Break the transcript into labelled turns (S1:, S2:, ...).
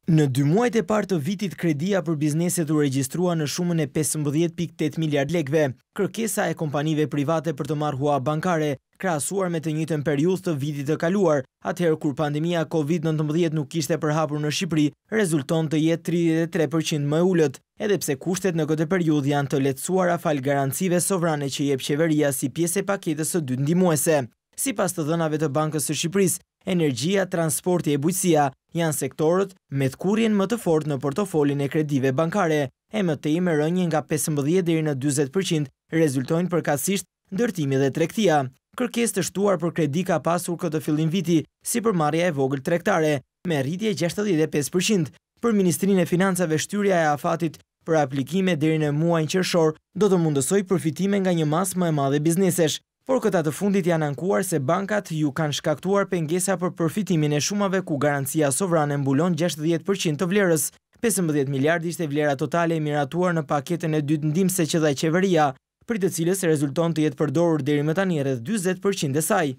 S1: Në dy muajt e parë të vitit kredia për bizneset u regjistrua në shumën e 15.8 miliard lekëve. Kërkesa e kompanive private për të marrë hua bankare, krahasuar me të njëjtën periudhë të vitit të kaluar, atëherë kur pandemia Covid-19 nuk ishte përhapur në Shqipëri, rezulton të jetë 33% më e ulët, edhe pse kushtet në këtë periudhë janë të lehtësuara falë garancive sovrane që jep qeveria si pjesë e paketës së dytë ndihmuese. Sipas të dhënave të Bankës së Shqipërisë, energjia, transporti e bujqësia janë sektorët me tkurrjen më të fortë në portofolin e kredive bankare, e më tej me rënie nga 15 deri në 40% rezultojnë përkatësisht ndërtimi dhe tregtia. Kërkesë të shtuar për kredi ka pasur këtë fillim viti, sipërmarrja e vogël tregtare, me rritje 65%. Për Ministrinë e Financave shtyrja e afatit për aplikime deri në muajin qershor do të mundësojë përfitime nga një masë më e madhe biznesesh. Por këta të fundit janë ankuar se bankat ju kanë shkaktuar pengesa për përfitimin e shumave ku garancia sovrane mbulon 60% të vlerës. 15 miliard ishte vlera totale e miratuar në paketën e dytë ndihmëse që dha qeveria, prej të cilës rezulton të jetë përdorur deri më tani rreth 40% e saj.